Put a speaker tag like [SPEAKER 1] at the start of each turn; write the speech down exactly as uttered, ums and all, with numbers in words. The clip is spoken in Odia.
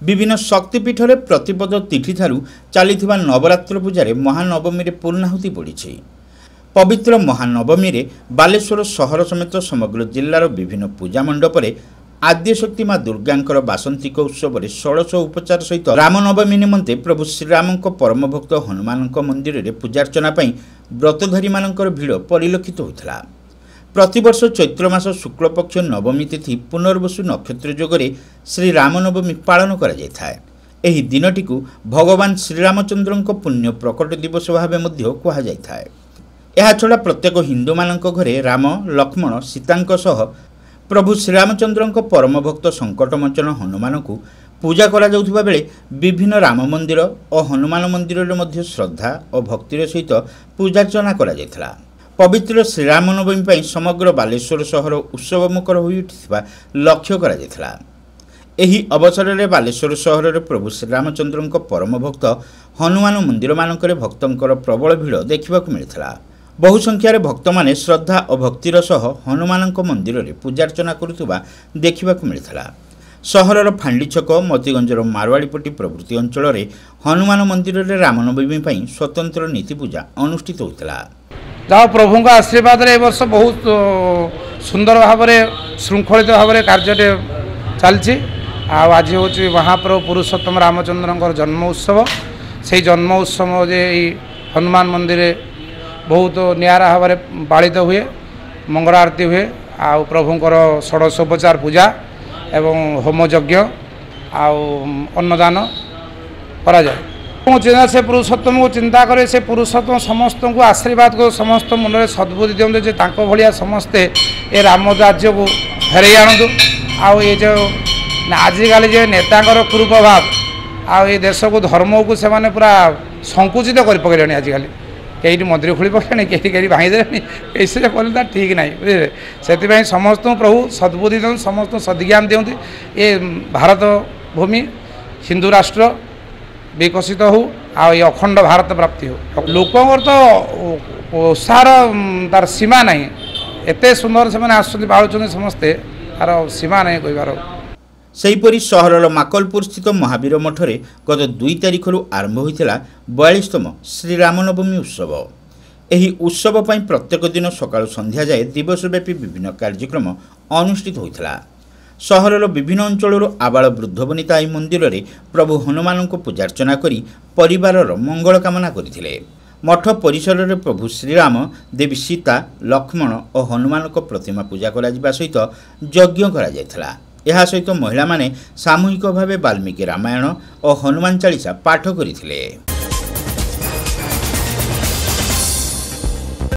[SPEAKER 1] ବିଭିନ୍ନ ଶକ୍ତିପୀଠରେ ପ୍ରତିପଦ ତିଥିଠାରୁ ଚାଲିଥିବା ନବରାତ୍ର ପୂଜାରେ ମହାନବମୀରେ ପୂର୍ଣ୍ଣାହୁତି ପଡ଼ିଛି। ପବିତ୍ର ମହାନବମୀରେ ବାଲେଶ୍ୱର ସହର ସମେତ ସମଗ୍ର ଜିଲ୍ଲାର ବିଭିନ୍ନ ପୂଜା ମଣ୍ଡପରେ ଆଦ୍ୟଶକ୍ତି ମା ଦୁର୍ଗାଙ୍କର ବାସନ୍ତିକ ଉତ୍ସବରେ ଷୋଡ଼ଶ ଉପଚାର ସହିତ ରାମନବମୀ ନିମନ୍ତେ ପ୍ରଭୁ ଶ୍ରୀରାମଙ୍କ ପରମଭକ୍ତ ହନୁମାନଙ୍କ ମନ୍ଦିରରେ ପୂଜାର୍ଚ୍ଚନା ପାଇଁ ବ୍ରତଧାରୀମାନଙ୍କର ଭିଡ଼ ପରିଲକ୍ଷିତ ହୋଇଥିଲା। ପ୍ରତିବର୍ଷ ଚୈତ୍ର ମାସ ଶୁକ୍ଳପକ୍ଷ ନବମୀ ତିଥି ପୁନର୍ବସୁ ନକ୍ଷତ୍ର ଯୋଗରେ ଶ୍ରୀରାମନବମୀ ପାଳନ କରାଯାଇଥାଏ। ଏହି ଦିନଟିକୁ ଭଗବାନ ଶ୍ରୀରାମଚନ୍ଦ୍ରଙ୍କ ପୁଣ୍ୟ ପ୍ରକଟ ଦିବସ ଭାବେ ମଧ୍ୟ କୁହାଯାଇଥାଏ। ଏହାଛଡ଼ା ପ୍ରତ୍ୟେକ ହିନ୍ଦୁମାନଙ୍କ ଘରେ ରାମ, ଲକ୍ଷ୍ମଣ, ସୀତାଙ୍କ ସହ ପ୍ରଭୁ ଶ୍ରୀରାମଚନ୍ଦ୍ରଙ୍କ ପରମଭକ୍ତ ସଙ୍କଟମୋଚନ ହନୁମାନଙ୍କୁ ପୂଜା କରାଯାଉଥିବା ବେଳେ ବିଭିନ୍ନ ରାମ ମନ୍ଦିର ଓ ହନୁମାନ ମନ୍ଦିରରେ ମଧ୍ୟ ଶ୍ରଦ୍ଧା ଓ ଭକ୍ତିର ସହିତ ପୂଜାର୍ଚ୍ଚନା କରାଯାଇଥିଲା। ପବିତ୍ର ଶ୍ରୀରାମନବମୀ ପାଇଁ ସମଗ୍ର ବାଲେଶ୍ୱର ସହର ଉତ୍ସବମୁଖର ହୋଇଉଠିଥିବା ଲକ୍ଷ୍ୟ କରାଯାଇଥିଲା। ଏହି ଅବସରରେ ବାଲେଶ୍ୱର ସହରରେ ପ୍ରଭୁ ଶ୍ରୀରାମଚନ୍ଦ୍ରଙ୍କ ପରମଭକ୍ତ ହନୁମାନ ମନ୍ଦିରମାନଙ୍କରେ ଭକ୍ତଙ୍କର ପ୍ରବଳ ଭିଡ଼ ଦେଖିବାକୁ ମିଳିଥିଲା। ବହୁ ସଂଖ୍ୟାରେ ଭକ୍ତମାନେ ଶ୍ରଦ୍ଧା ଓ ଭକ୍ତିର ସହ ହନୁମାନଙ୍କ ମନ୍ଦିରରେ ପୂଜାର୍ଚ୍ଚନା କରୁଥିବା ଦେଖିବାକୁ ମିଳିଥିଲା। ସହରର ଫାଣ୍ଡି ଛକ, ମତିଗଞ୍ଜର ମାରୱାଡ଼ିପଟି ପ୍ରଭୃତି ଅଞ୍ଚଳରେ ହନୁମାନ ମନ୍ଦିରରେ ରାମନବମୀ ପାଇଁ ସ୍ୱତନ୍ତ୍ର ନୀତି ପୂଜା ଅନୁଷ୍ଠିତ ହୋଇଥିଲା।
[SPEAKER 2] ଯାହା ପ୍ରଭୁଙ୍କ ଆଶୀର୍ବାଦରେ ଏ ବର୍ଷ ବହୁତ ସୁନ୍ଦର ଭାବରେ ଶୃଙ୍ଖଳିତ ଭାବରେ କାର୍ଯ୍ୟଟି ଚାଲିଛି। ଆଉ ଆଜି ହେଉଛି ମହାପ୍ରଭୁ ପୁରୁଷୋତ୍ତମ ରାମଚନ୍ଦ୍ରଙ୍କର ଜନ୍ମ ଉତ୍ସବ। ସେଇ ଜନ୍ମ ଉତ୍ସବ ଯେ ଏଇ ହନୁମାନ ମନ୍ଦିରରେ ବହୁତ ନିଆରା ଭାବରେ ପାଳିତ ହୁଏ, ମଙ୍ଗଳ ଆରତୀ ହୁଏ, ଆଉ ପ୍ରଭୁଙ୍କର ଷୋଡ଼ଶୋପଚାର ପୂଜା ଏବଂ ହୋମ ଯଜ୍ଞ ଆଉ ଅନ୍ନଦାନ କରାଯାଏ। ମୁଁ ଚିନ୍ତା ସେ ପୁରୁଷୋତ୍ତମକୁ ଚିନ୍ତା କରେ, ସେ ପୁରୁଷୋତ୍ତମ ସମସ୍ତଙ୍କୁ ଆଶୀର୍ବାଦ କରୁ, ସମସ୍ତ ମନରେ ସଦ୍ବୁଦ୍ଧି ଦିଅନ୍ତୁ ଯେ ତାଙ୍କ ଭଳିଆ ସମସ୍ତେ ଏ ରାମ ରାଜ୍ୟକୁ ଫେରାଇ ଆଣନ୍ତୁ। ଆଉ ଏ ଯେଉଁ ଆଜିକାଲି ଯେ ନେତାଙ୍କର କୁପ୍ରଭାବ ଆଉ ଏ ଦେଶକୁ ଧର୍ମକୁ ସେମାନେ ପୁରା ସଂକୁଚିତ କରି ପକାଇଲେଣି। ଆଜିକାଲି କେଇଠି ମନ୍ଦିର ଖୋଲି ପକାଇଲେଣି, କେଇଠି କେଇଠି ଭାଙ୍ଗିଦେଲେଣି, ଏସବୁ କଲେ ତା ଠିକ୍ ନାହିଁ, ବୁଝିଲେ। ସେଥିପାଇଁ ସମସ୍ତଙ୍କୁ ପ୍ରଭୁ ସଦ୍ବୁଦ୍ଧି ଦିଅନ୍ତୁ, ସମସ୍ତଙ୍କୁ ସଦ୍ଜ୍ଞାନ ଦିଅନ୍ତୁ। ଏ ଭାରତ ଭୂମି ହିନ୍ଦୁ ରାଷ୍ଟ୍ର ବିକଶିତ ହେଉ ଆଉ ଏ ଅଖଣ୍ଡ ଭାରତ ପ୍ରାପ୍ତି ହେଉ। ଲୋକଙ୍କର ତ ଉତ୍ସାହର ତାର ସୀମା ନାହିଁ, ଏତେ ସୁନ୍ଦର ସେମାନେ ଆସୁଛନ୍ତି, ପାଳୁଛନ୍ତି ସମସ୍ତେ, ତାର ସୀମା ନାହିଁ କହିବାର।
[SPEAKER 1] ସେହିପରି ସହରର ମାକଲପୁର ସ୍ଥିତ ମହାବୀର ମଠରେ ଗତ ଦୁଇ ତାରିଖରୁ ଆରମ୍ଭ ହୋଇଥିଲା ବୟାଳିଶତମ ଶ୍ରୀରାମନବମୀ ଉତ୍ସବ। ଏହି ଉତ୍ସବ ପାଇଁ ପ୍ରତ୍ୟେକ ଦିନ ସକାଳୁ ସନ୍ଧ୍ୟା ଯାଏ ଦିବସବ୍ୟାପୀ ବିଭିନ୍ନ କାର୍ଯ୍ୟକ୍ରମ ଅନୁଷ୍ଠିତ ହୋଇଥିଲା। ସହରର ବିଭିନ୍ନ ଅଞ୍ଚଳରୁ ଆବାଳ ବୃଦ୍ଧବନିତା ଏହି ମନ୍ଦିରରେ ପ୍ରଭୁ ହନୁମାନଙ୍କୁ ପୂଜାର୍ଚ୍ଚନା କରି ପରିବାରର ମଙ୍ଗଳ କାମନା କରିଥିଲେ। ମଠ ପରିସରରେ ପ୍ରଭୁ ଶ୍ରୀରାମ, ଦେବୀ ସୀତା, ଲକ୍ଷ୍ମଣ ଓ ହନୁମାନଙ୍କ ପ୍ରତିମା ପୂଜା କରାଯିବା ସହିତ ଯଜ୍ଞ କରାଯାଇଥିଲା। ଏହା ସହିତ ମହିଳାମାନେ ସାମୂହିକ ଭାବେ ବାଲ୍ମୀକି ରାମାୟଣ ଓ ହନୁମାନ ଚାଳିଶା ପାଠ କରିଥିଲେ।